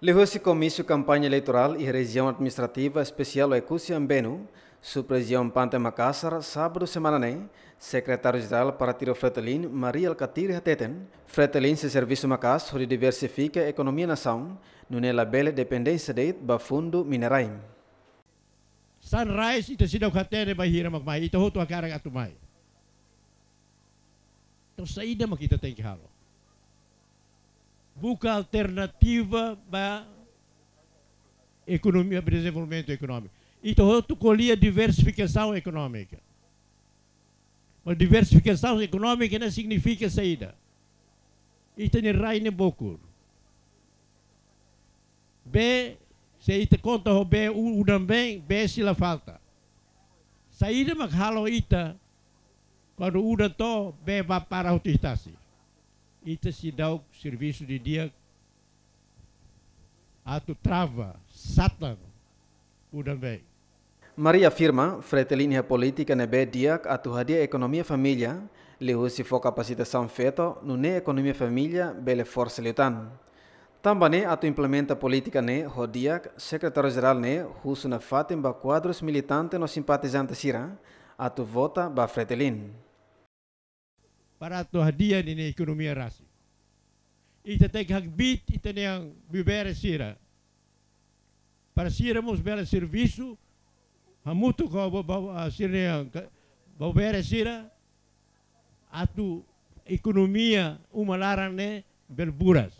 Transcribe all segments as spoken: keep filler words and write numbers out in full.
Liuhusi Komísiu Kampaña Eleitorál iha Rejiaun Administrativa Espesiál Oekusi Ambenu, Sub-Rejiaun Pante Makasar, sábadu semana ne'e, Sekretária-Jerál Partidu Fretilin, Mari Alkatiri hateten, Fretilin sei servisu maka'as hodi diversifika ekonomia nasaun, nune'e labele dependénsia de'it ba fundu minerai. Sunrise ita seidauk hatene bainhira mak mai, ita hotu hakarak atu mai. Entaun saida mak ita tenke halo? Buka alternativa ba ekonomia, ba dezenvolvimentu ekonómiku. Ita hotu ko'alia diversifikasaun ekonómika. Mas diversifikasaun ekonómika ne'e signifika saida? Ita-nia rai ne'e bokur. Bee, se ita konta ho bee u-, udan-been, bee sei la falta. Saida mak halo ita, kuandu udan to'o, bee bá para hotu iha tasi? Ita seidauk servisu didi'ak atu trava, satan udan-been. Mari afirma, Fretilin iha polítika ne'ebé di'ak atu hadi'a ekonomia família, liuhusi fó kapasitasaun feto, nune'e ekonomia família bele forsa liután. Tanba ne'e atu implementa polítika ne'e ho di'ak, Sekretáriu-Jerál ne'e husu nafatin ba kuadrus militante no simpatizante sira atu vota ba Fretilin. Para atu hadi'a ninia ekonomia rasik. Ita tenke hakbiit ita-nia buibere sira. Para sira mós bele servisu hamutuk ho ba-, ba-, ah, sira-nia ka-, buibere sira atu ekonomia uma laran ne'e bele buras.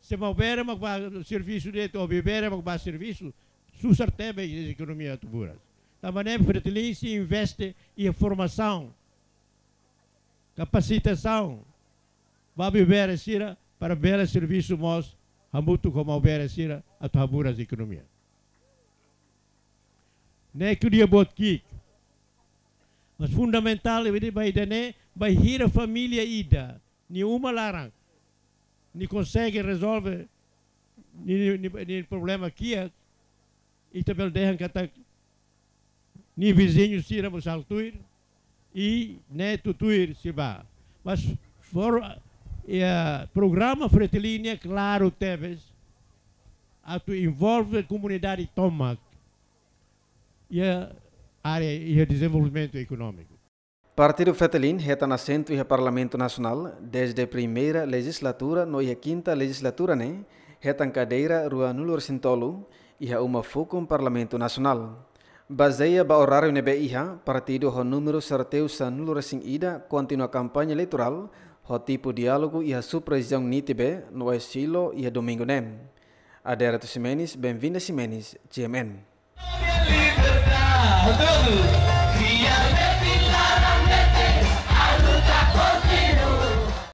Se maubere mak bá servisu de'it, ou buibere mak bá servisu, susar tebes ekonomia atu buras. Tanba ne'e Fretilin sei investe iha formasaun, kapasitasaun ba buibere sira para bele servisu mós hamutuk ho maubere sira atu haburas ekonomia. Ne'e ko'alia boot ki'ik. Mas fundamentál ida ba ida-ne'e, bainhira família ida, nia uma laran, nia konsege rezolve nia, nia, nia, nia problema kiak, ita bele dehan katak nia viziñu sira mós halo tuir, i ne'e tutuir sei bá. Mas for, eh, programa Fretilin ne'e klaru tebes atu envolve komunidade tomak iha área, iha dezenvolvimentu ekonómiku. Partidu Fretilin hetan asentu iha Parlamentu Nasionál dezde primeira lejizlatura no iha kinta lejizlatura ne'e hetan kadeira ruanulu-resin-tolu iha uma fukun Parlamentu Nasionál. Bazeia ba oráriu ne'ebé iha, partidu ho númeru sorteiu sanulu-resin-ida kontinua kampaña eleitorál ho tipu diálogu iha sub-rejiaun Nitibe no Oesilo iha domingu ne'e. Adérito Ximenes, Benvinda Ximenes, G M N.